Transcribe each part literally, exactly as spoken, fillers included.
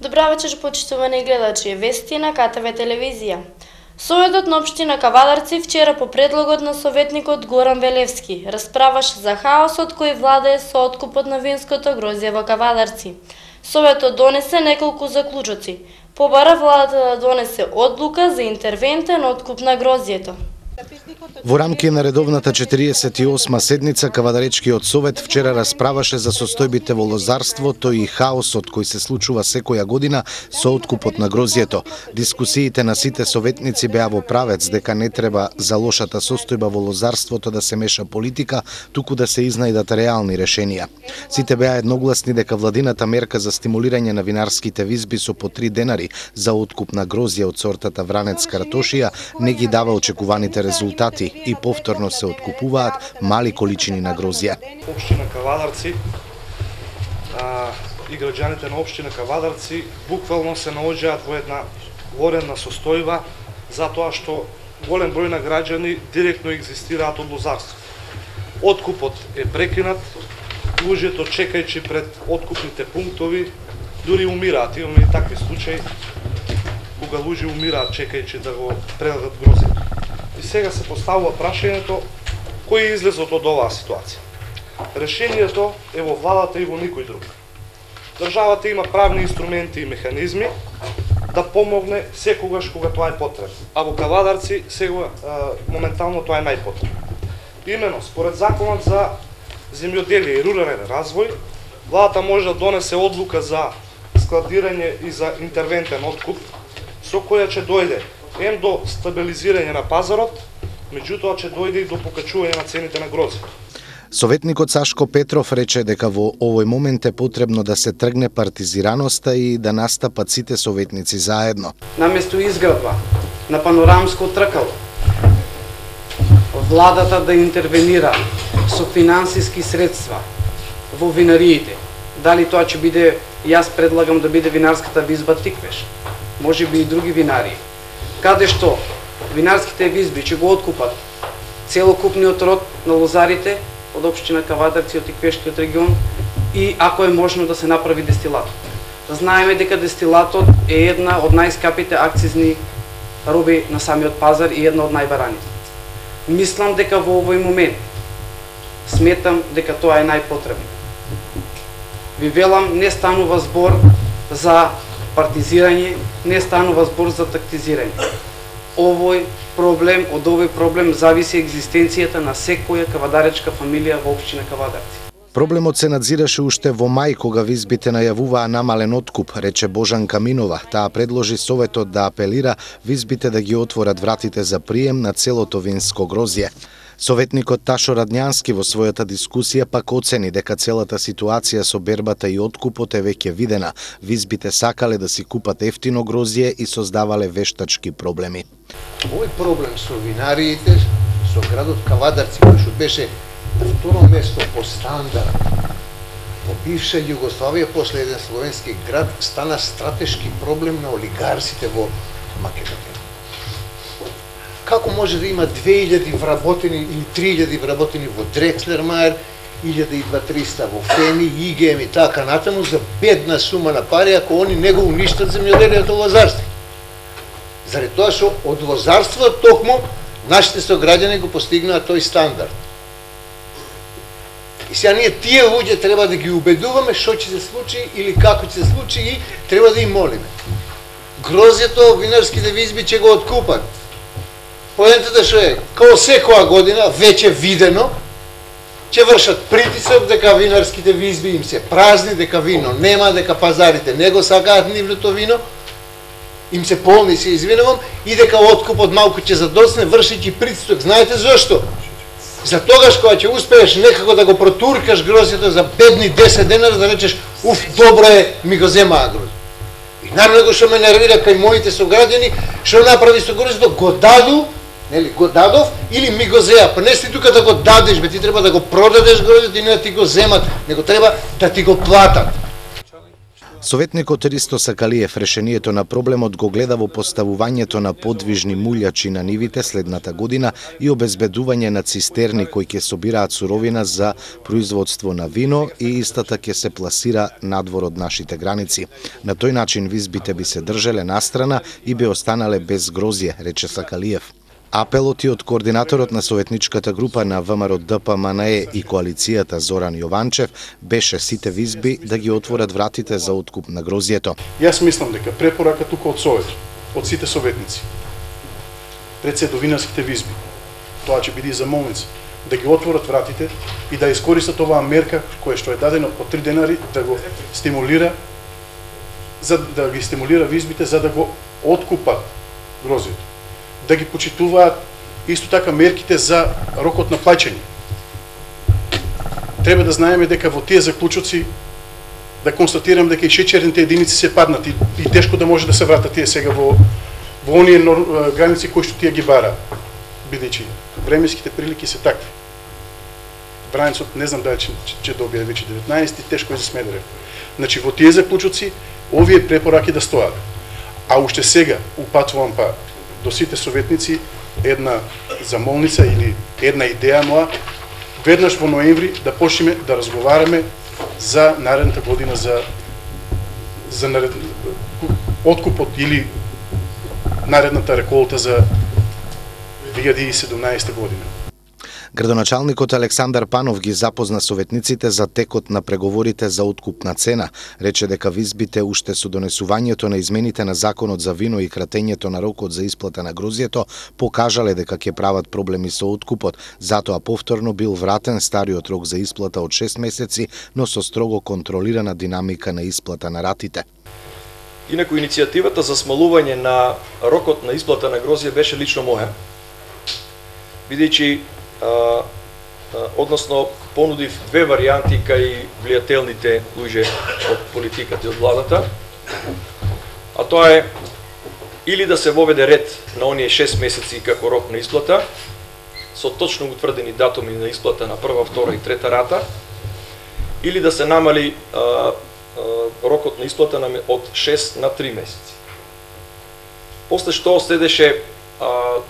Добра вечер, почитувани гледачи, вести на К Т В телевизија. Советот на општина Кавадарци вчера по предлогот на советникот Горан Велевски расправаше за хаосот кој владее со откупот на винското грозје во Кавадарци. Советот донесе неколку заклучоци. Побара владата да донесе одлука за интервентен откуп на грозјето. Во рамки на редовната четириесет и осма седница Кавадаречкиот совет вчера расправаше за состојбите во лозарството и хаосот кој се случува секоја година со откупот на грозјето. Дискусиите на сите советници беа во правец дека не треба за лошата состојба во лозарството да се меша политика, туку да се изнајдат реални решенија. Сите беа едногласни дека владината мерка за стимулирање на винарските визби со по три денари за откуп на грозје од сортата Вранец Картошија не ги дава очекуваните резултати и повторно се откупуваат мали количини на грозје. Општина Кавадарци а, и граѓаните на општина Кавадарци буквално се наоѓаат во една воредна состојба затоа што голем број на граѓани директно екзистираат од лозарство. Откупот е прекинат, луѓето чекајќи пред откупните пунктови дури умираат. Имаме и такви случаи кога луѓе умираат чекајќи да го предадат грозјето. И сега се поставува прашањето кој е излезот од оваа ситуација. Решението е во владата и во никој друг. Државата има правни инструменти и механизми да помогне секогаш кога тоа е потребно. А во Кавадарци сега моментално тоа е најпотребно. Имено според законот за земјоделие и рурален развој, владата може да донесе одлука за складирање и за интервентен откуп со која ќе дојде ем до стабилизирање на пазарот, меѓутоа ќе дојде и до покачување на цените на грозје. Советникот Сашко Петров рече дека во овој момент е потребно да се тргне партизираноста и да настапат сите советници заедно. Наместо изградба на панорамско тркало, владата да интервенира со финансиски средства во винариите. Дали тоа ќе биде, јас предлагам да биде винарската визба Тиквеш, може би и други винарии, каде што винарските визби ќе го откупат целокупниот род на лозарите од општина Кавадарци, од Тиквешкиот регион и ако е можно да се направи дестилат. Знаеме дека дестилатот е една од најскапите акцизни роби на самиот пазар и една од најбараните. Мислам дека во овој момент сметам дека тоа е најпотребно. Ви велам, не станува збор за партизирање, не станува збор за тактизирање. Овој проблем, од овој проблем зависи екзистенцијата на секоја кавадаречка фамилија во општина Кавадарци. Проблемот се надзираше уште во мај кога визбите најавуваа намален откуп, рече Божан Каминова. Таа предложи советот да апелира визбите да ги отворат вратите за прием на целото винско грозје. Советникот Ташо Радњански во својата дискусија пак оцени дека целата ситуација со бербата и откупот е веќе видена. Визбите сакале да си купат ефтино грозје и создавале вештачки проблеми. Овој проблем со винариите, со градот Кавадарци, кој што беше на второ место по стандард во бивша Југославија после еден словенски град, стана стратешки проблем на олигарсите во Македонија. Како може да има две илјади вработени или три илјади вработени во Дрекслермајер, илјада и дваесет во Феми, ИГМ и така натаму за бедна сума на пари ако они не го уништат земјоделието лозарство? Заради тоа што од лозарството токму нашите сограѓани го постигнаа тој стандард. И сега ние тие луѓе треба да ги убедуваме што ќе се случи или како ќе се случи и треба да им молиме. Грозјето, винарските визби ќе го откупат. Поентата што е, као секоја година, веќе видено, ќе вршат притисок дека винарските визби им се празни, дека вино нема, дека пазарите не го сакаат нивното вино, им се полни, се извинувам, и дека откупот малку ќе задосне, вршејќи притисок. Знаете зошто? За тогаш кога ќе успееш некако да го протуркаш грозјето за бедни десет денара, да речеш, уф, добро е, ми го земаа грозјето. И најмногу што ме нервира кај моите сограѓани, што направи со грозјето, го даду, нели, го дадов или ми го зеа. Па не си тука да го дадеш, бе, ти треба да го продадеш грозјето и не да ти го земат, него треба да ти го платат. Советникот Ристо Сакалиев решението на проблемот го гледа во поставувањето на подвижни мулјачи на нивите следната година и обезбедување на цистерни кои ќе собираат суровина за производство на вино и истата ќе се пласира надвор од нашите граници. На тој начин визбите би се држеле настрана и би останале без грозје, рече Сакалиев. Апелот и од координаторот на советничката група на ВМРО Д П М Н Е и коалицијата Зоран Јованчев беше сите визби да ги отворат вратите за откуп на грозјето. Јас мислам дека препорака тука од Совет, од сите советници, пред се до винарските визби, тоа ќе биде и за молница, да ги отворат вратите и да искористат оваа мерка која што е дадена по три денари да го стимулира за да ги стимулира визбите за да го откупат грозјето. Да ги почитуваат исто така мерките за рокот на плаќање. Треба да знаеме дека во тие заклучоци да констатирам дека и шеќерните единици се паднати и тешко да може да се вратат тие сега во во оние граници кои што тие ги бараат, бидејќи временските прилики се такви. Враницот не знам дали ќе ќе добие веќе деветнаесети, тешко е за Смедрево. Значи во тие заклучоци овие препораки да стоат. А уште сега упатувам па до сите советници една замолница или една идеја моја, веднаш во ноември да почнеме да разговараме за наредната година за за наред... откупот или наредната реколта за две илјади и седумнаесета година. Градоначалникот Александар Панов ги запозна советниците за текот на преговорите за откупна цена. Рече дека визбите уште со донесувањето на измените на законот за вино и кратењето на рокот за исплата на грозјето покажале дека ќе прават проблеми со откупот. Затоа повторно бил вратен стариот рок за исплата од шест месеци, но со строго контролирана динамика на исплата на ратите. Инаку иницијативата за смалување на рокот на исплата на грозје беше лично моја. Бидејќи А, а, односно понудив две варијанти кај влијателните луѓе од политиката и од владата, а тоа е или да се воведе ред на оние шест месеци како рок на исплата, со точно утврдени датуми на исплата на прва, втора и трета рата, или да се намали а, а, рокот на исплата на, од шест на три месеци. После што следеше а,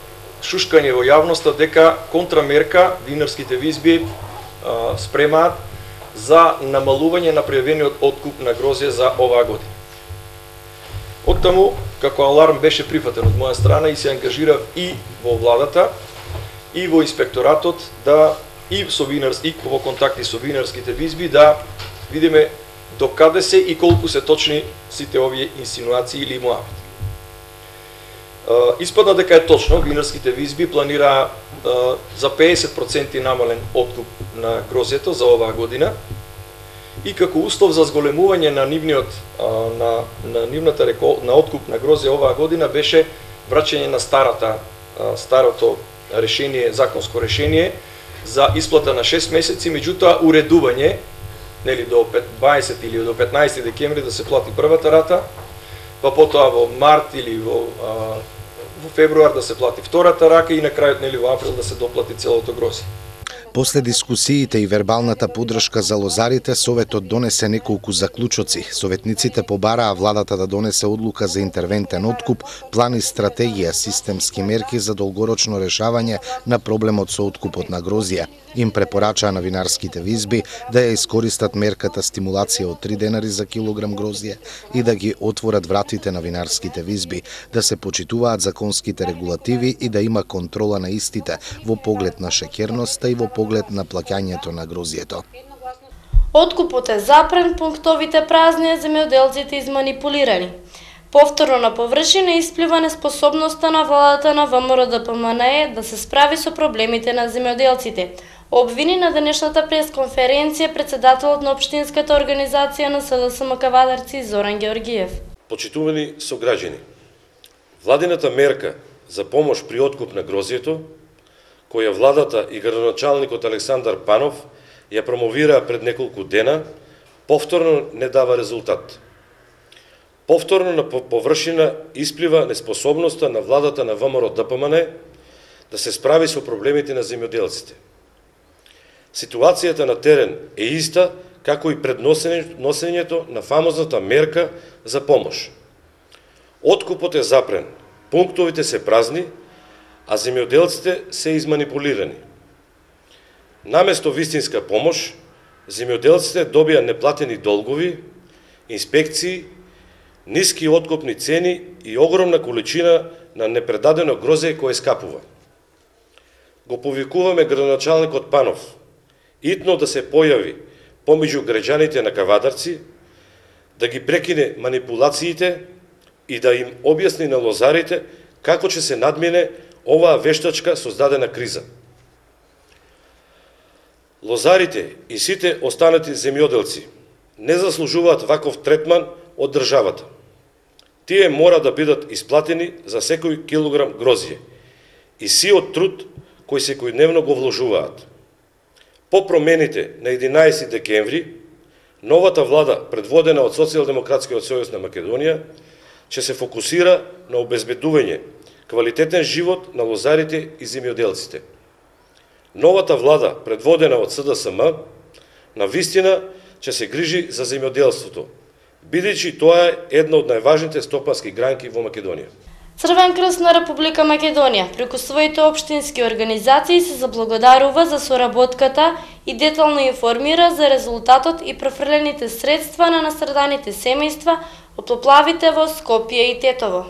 шушкање во јавноста дека контрамерка винарските визби а, спремаат за намалување на пријавениот откуп на грозје за оваа година. Оттаму, како аларм беше прифатен од моја страна и се ангажирав и во владата, и во инспекторатот, да и со винарс, и во контакти со винарските визби, да видиме докаде се и колку се точни сите овие инсинуации или муавити. Uh, испадна дека е точно, винарските визби планира uh, за педесет проценти намален откуп на грозјето за оваа година и како услов за зголемување на нивниот uh, на, на нивната рекол, на откуп на грозје оваа година беше враќање на старата uh, старото решение, законско решение за исплата на шест месеци, меѓутоа уредување, нели до дваесет или до петнаесети декември да се плати првата рата, па потоа во март или во а, во февруар да се плати втората рака и на крајот нели во април да се доплати целото грозје. После дискусиите и вербалната поддршка за лозарите, Советот донесе неколку заклучоци. Советниците побараа владата да донесе одлука за интервентен откуп, план и стратегија, системски мерки за долгорочно решавање на проблемот со откупот на грозје. Им препорачаа на винарските визби да ја искористат мерката стимулација од три денари за килограм грозје и да ги отворат вратите на винарските визби, да се почитуваат законските регулативи и да има контрола на истите во поглед на шеќерноста и во поглед на плаќањето на грозјето. Откупот е запрен, пунктовите празни, а земјоделците изманипулирани. Повторно на површина исплива неспособноста на владата на ВМРО Д П М Н Е да се справи со проблемите на земјоделците. Обвини на денешната пресконференција председателот на општинската организација на С Д С М Кавадарци Зоран Георгиев. Почитувани сограѓани, владината мерка за помош при откуп на грозјето, која владата и градоначалникот Александар Панов ја промовираа пред неколку дена, повторно не дава резултат. Повторно на површина исплива неспособноста на владата на ВМРО Д П М Н Е да се справи со проблемите на земјоделците. Ситуацијата на терен е иста како и пред носењето на фамозната мерка за помош. Откупот е запрен, пунктовите се празни, а земјоделците се изманипулирани. Наместо вистинска помош, земјоделците добија неплатени долгови, инспекции, ниски откупни цени и огромна количина на непредадено грозје кое скапува. Го повикуваме градоначалникот Панов итно да се појави помеѓу граѓаните на Кавадарци, да ги прекине манипулациите и да им објасни на лозарите како ќе се надмине оваа вештачка создадена криза. Лозарите и сите останати земјоделци не заслужуваат ваков третман од државата. Тие мора да бидат исплатени за секој килограм грозје и сиот труд кој секојдневно го вложуваат. По промените на единаесети декември, новата влада, предводена од Социјалдемократскиот сојуз на Македонија, ќе се фокусира на обезбедување квалитетен живот на лозарите и земјоделците. Новата влада, предводена од С Д С М, на вистина ќе се грижи за земјоделството, бидејќи тоа е една од најважните стопански гранки во Македонија. Црвен крст на Република Македонија преку своите општински организации се заблагодарува за соработката и детално информира за резултатот и префрлените средства на настраданите семејства од поплавите во Скопје и Тетово.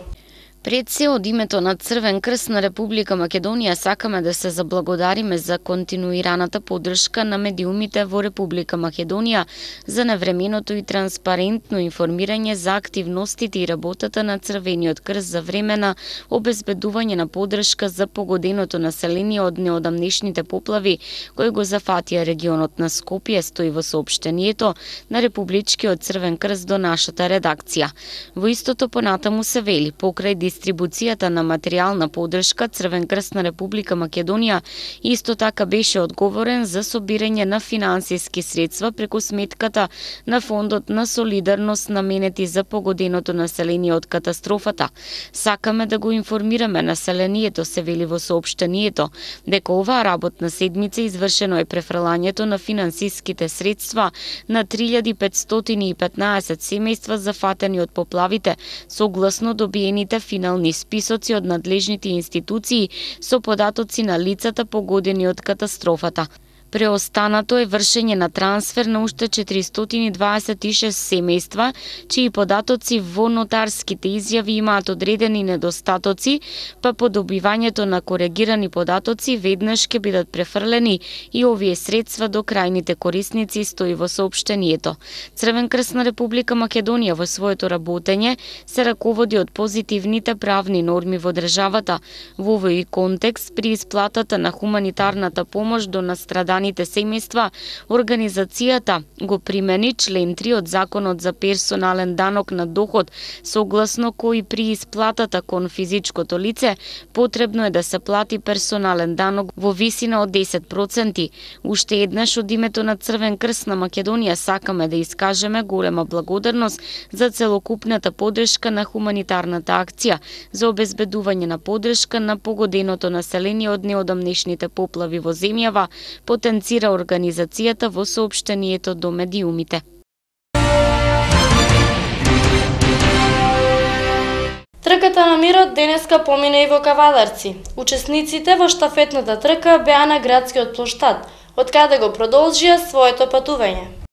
Пред се од името на Црвен крст на Република Македонија сакаме да се заблагодариме за континуираната поддршка на медиумите во Република Македонија за навременото и транспарентно информирање за активностите и работата на Црвениот крст за време на обезбедување на поддршка за погоденото население од неодамнешните поплави кои го зафатија регионот на Скопје, стои во соопштението на Републичкиот Црвен крст до нашата редакција. Во истото понатаму се вели, покрај дистрибуцијата на материјална поддршка, Црвен крст на Република Македонија исто така беше одговорен за собирање на финансиски средства преку сметката на Фондот на солидарност наменети за погоденото население од катастрофата. Сакаме да го информираме населението, се вели во соопштението, дека оваа работна седмица извршено е префрлањето на финансиските средства на три илјади петстотини и петнаесет семејства зафатени од поплавите, согласно добиените финансиски списоци од надлежните институции со податоци на лицата погодени од катастрофата. Преостанато е вршење на трансфер на уште четиристотини дваесет и шест семејства, чии податоци во нотарските изјави имаат одредени недостатоци, па по добивањето на коригирани податоци веднаш ќе бидат префрлени и овие средства до крајните корисници, стои во соопштението. Црвен крст на Република Македонија во своето работење се раководи од позитивните правни норми во државата. Во овој контекст, при исплатата на хуманитарната помош до настраданите семејства, организацијата го примени член три од Законот за персонален данок на доход, согласно кој при исплатата кон физичкото лице потребно е да се плати персонален данок во висина од десет проценти. Уште еднаш од името на Црвен крст на Македонија сакаме да искажеме голема благодарност за целокупната поддршка на хуманитарната акција за обезбедување на поддршка на погоденото население од неодамнешните поплави во земјава, потенцира организацијата во соопштението до медиумите. Трката на мирот денеска помина и во Кавадарци. Учесниците во штафетната трка беа на градскиот плоштад, од каде го продолжија своето патување.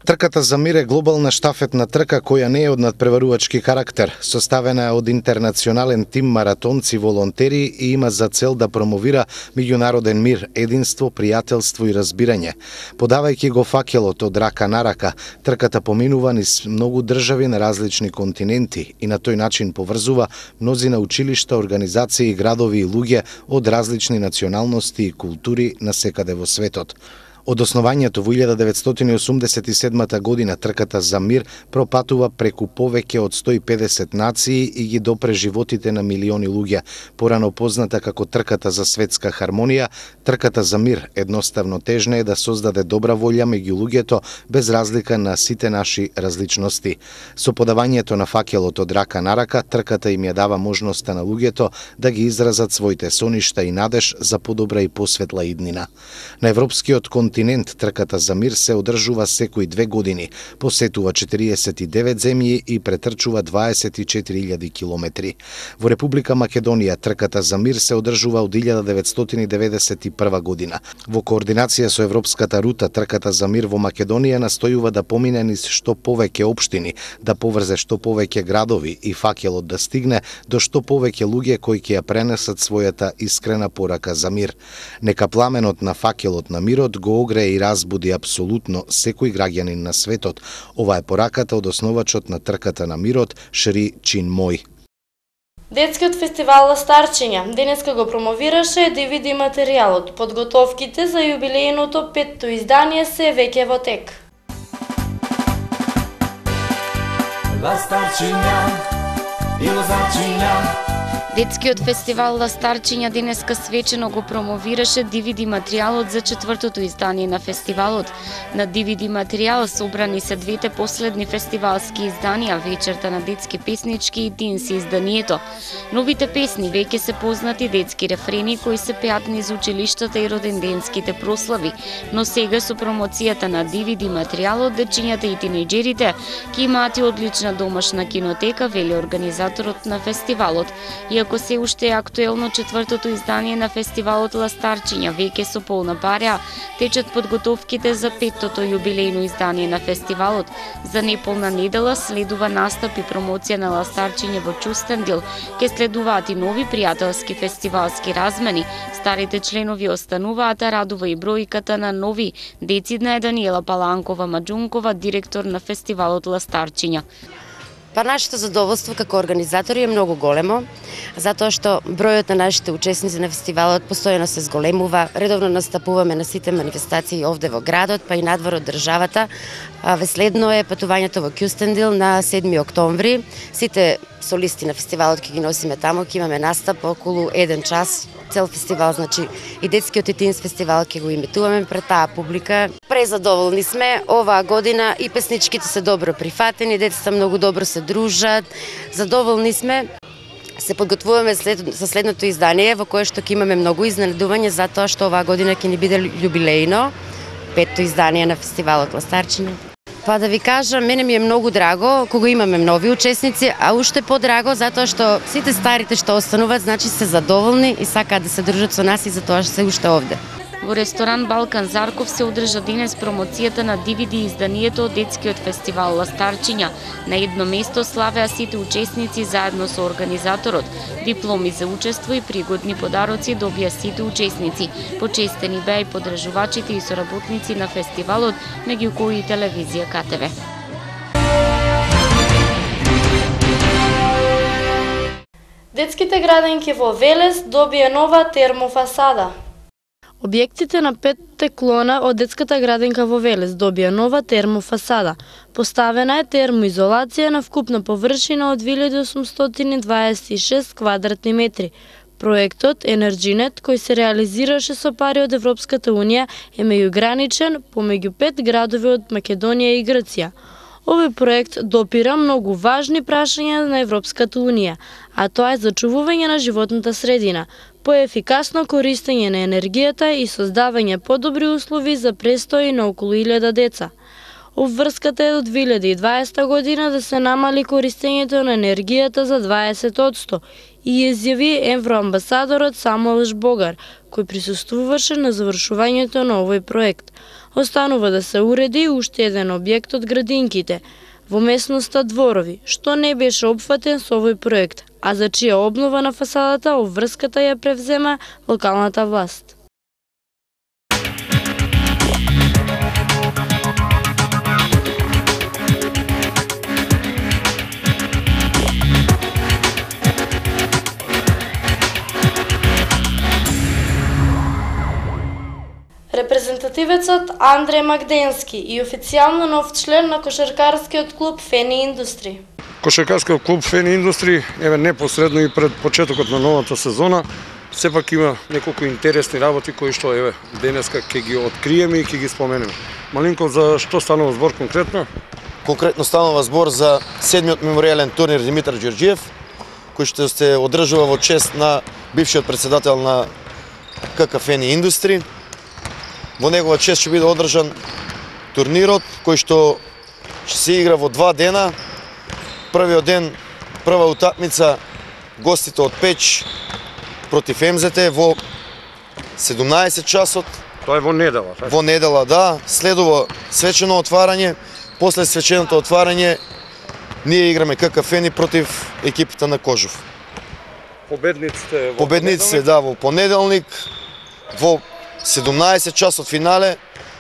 Трката за мир е глобална штафетна трка која не е од надпреварувачки карактер. Составена е од интернационален тим маратонци волонтери и има за цел да промовира меѓународен мир, единство, пријателство и разбирање. Подавајќи го факелот од рака на рака, трката поминува низ многу држави на различни континенти и на тој начин поврзува мнозина училишта, организации, градови и луѓе од различни националности и култури на секаде во светот. Од основањето во илјада деветстотини осумдесет и седма година трката за мир пропатува преку повеќе од сто и педесет нации и ги допре животите на милиони луѓе. Порано позната како трката за светска хармонија, трката за мир едноставно тежна е да создаде добра волја меѓу луѓето без разлика на сите наши различности. Со подавањето на факелот од рака на рака, трката им ја дава можноста на луѓето да ги изразат своите соништа и надеж за подобра и посветла иднина. На европскиот континент континент трката за мир се одржува секои две години, посетува четириесет и девет земји и претрчува дваесет и четири илјади километри. Во Република Македонија трката за мир се одржува од илјада деветстотини деветдесет и прва година. Во координација со Европската рута, трката за мир во Македонија настојува да помине низ што повеќе општини, да поврзе што повеќе градови и факелот да стигне до што повеќе луѓе кои ќе ја пренесат својата искрена порака за мир. Нека пламенот на факелот на мирот го огрее и разбуди апсолутно секој граѓанин на светот. Ова е пораката од основачот на трката на мирот, Шри Чинмој. Детскиот фестивал Ластарчиња денеска го промовираше ди ви ди материјалот. Подготовките за јубилејното петто издание се веќе во тек. Ластарчиња и Лозарчиња. Детскиот фестивал Ластарчиња денеска свечено го промовираше ди ви ди материјалот за четвртото издание на фестивалот. На ди ви ди материјал собрани се двете последни фестивалски изданија, вечерта на детски песнички и Динси изданието. Новите песни веќе се познати детски рефрени кои се пеат низ училиштата и роденденските прослави, но сега со промоцијата на ди ви ди материјалот дечињата и тинејџерите ќе имаат и одлична домашна кинотека, вели организаторот на фестивалот. Иако се уште е актуелно четвртото издание на фестивалот Ластарчиња, веќе со полна пареа, течат подготовките за петтото јубилејно издание на фестивалот. За неполна недела следува настап и промоција на Ластарчиња во Кюстендил. Ке следуваат и нови пријателски фестивалски размени. Старите членови остануваат, а радува и бројката на нови. Децидна е Даниела Паланкова-Маџункова, директор на фестивалот Ластарчиња. Па нашето задоволство како организатори е многу големо, затоа што бројот на нашите учесници на фестивалот постојано се зголемува. Редовно настапуваме на сите манифестации овде во градот, па и надвор од државата. Веследно е патувањето во Кюстендил на седми октомври. Сите солисти на фестивалот ќе ги носиме таму, ќе имаме настап околу еден час. Цел фестивал, значи и детскиот и тинс фестивал ќе го имитуваме пред таа публика. Презадоволни сме оваа година и песничките се добро прифатени, децата многу добро се дружат. Задоволни сме. Се подготвуваме след, за следното издание во кое што ќе имаме многу изненадување затоа што оваа година ќе ни биде јубилејно петто издание на фестивалот Ластарчиња. Па да ви кажам, мене ми е многу драго кога имаме нови учесници, а уште подраго затоа што сите старите што остануваат, значи се задоволни и сакаат да се дружат со нас и затоа што се уште овде. Во ресторан Балкан Зарков се одржа денес промоцијата на ди ви ди изданието од детскиот фестивал Ластарчиња. На едно место славеа сите учесници заедно со организаторот. Дипломи за учество и пригодни подароци добија сите учесници. Почестени беа и подржувачите и соработници на фестивалот, меѓу кои и телевизија Ка Те Ве. Детските градинки во Велес добија нова термофасада. Објектите на петте клона од детската градинка во Велес добија нова термофасада. Поставена е термоизолација на вкупна површина од две илјади осумстотини дваесет и шест квадратни метри. Проектот Енерджинет, кој се реализираше со пари од Европската унија, е меѓуграничен помеѓу пет градови од Македонија и Грција. Овој проект допира многу важни прашања на Европската унија, а тоа е зачувување на животната средина, поефикасно користење на енергијата и создавање подобри услови за престој на околу илјада деца. Обврската е до две илјади и дваесета година да се намали користењето на енергијата за дваесет одсто и изјави евроамбасадорот Самуел Жбогар, кој присуствуваше на завршувањето на овој проект. Останува да се уреди уште еден објект од градинките во местноста Дворови, што не беше опфатен со овој проект, а за чија обнова на фасадата обврската ја превзема локалната власт. Репрезентативецот Андреј Магденски и официјално нов член на кошаркарскиот клуб Фени Индустри. Кошаркарскиот клуб Фени Индустри еве непосредно и пред почетокот на новата сезона сепак има неколку интересни работи кои што еве денеска ќе ги откриеме и ќе ги споменеме. Малинко, за што станува збор конкретно? Конкретно станува збор за седмиот меморијален турнир Димитар Ѓорѓиев, кој што се одржува во чест на бившиот претседател на КК Фени Индустри. во негова чест ќе биде одржан турнирот кој што ќе се игра во два дена. Првиот ден, прва утакмица, гостите од Печ против Ем Зет Е во седумнаесет часот. Тоа е во недела, така? Во недела, да. Следува свечено отварање. После свеченото отварање ние играме Ка Ка Фени против екипата на Кожув. Победниците во Победниците, да, во понеделник, во седумнаесет часот финале,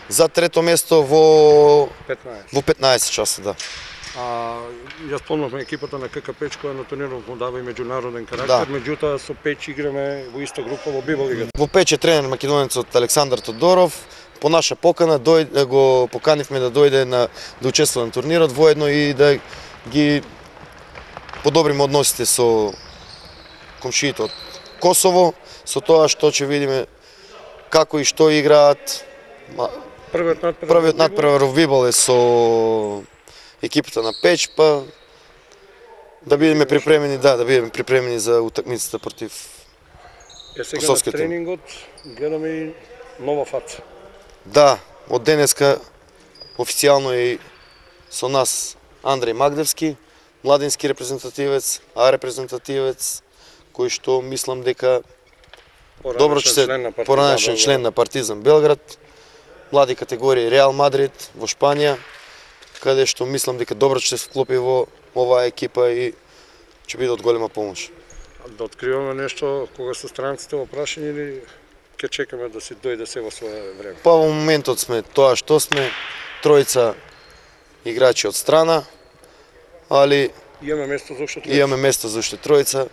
за трето место во петнаесет. Во петнаесет часа, да. А ја спомнавме екипата на Ка Ка Печ која на турнирот му дава и меѓународен карактер, Да. меѓутоа со Печ играме во иста група во Бибол лигата. Во Печ е тренер македонецот Александар Тодоров. По наша покана дојде, го поканивме да дојде на да учествува на турнирот, воедно и да ги подобриме односите со комшиите од Косово, со тоа што ќе видиме како и што играат. Првиот надпревар Првиот надпревар во Бибол е со екипата на Печ, па да бидеме припремени, да, да бидеме припремени за утакмицата против Е сега на косовските. тренингот гледаме и нова фаца. Да, од денеска официјално е со нас Андреј Магдевски, младински репрезентативец, А репрезентативец, кој што мислам дека добро ќе се поранешен член на Партизан Белград, млади категории Реал Мадрид во Шпанија, каде што мислам дека добро ќе се вклопи во оваа екипа и ќе биде од голема помош. Да откриваме нешто кога се странците во прашање или ќе чекаме да се дојде се во свое време? Па во моментот сме тоа што сме, тројца играчи од страна, али Имаме место за уште тројца. имаме место за уште тројца.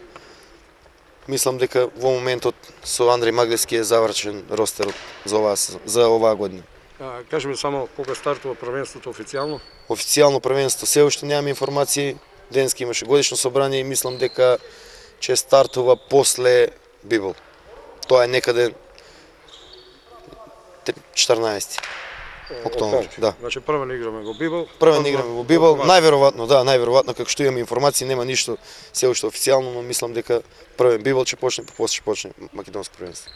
Мислам дека во моментот со Андреј Маглевски е завршен ростерот за оваа за оваа година. А, кажеме само кога стартува првенството официјално? Официјално првенство се уште немаме информации. Денеска имаше годишно собрание и мислам дека ќе стартува после Бибол. Тоа е некаде четрнаесети октомври, да. Значи прво не играме во Бибол. Прво не играме во Бибол, најверојатно, да, најверојатно како што имаме информации, нема ништо се уште официјално, но мислам дека првен Бибол ќе почне, па после ќе почне македонско првенство.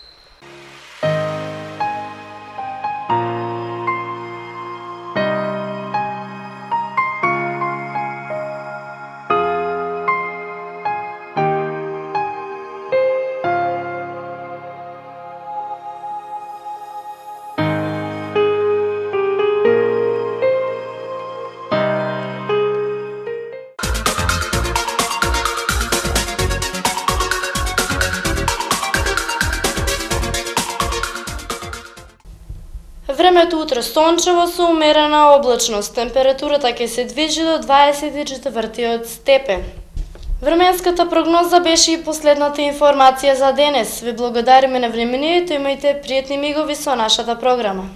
Времето утре сончево со умерена облачност. Температурата ќе се движи до дваесет и четвртиот степен. Временската прогноза беше и последната информација за денес. Ви благодариме на вниманието, имајте пријатни мигови со нашата програма.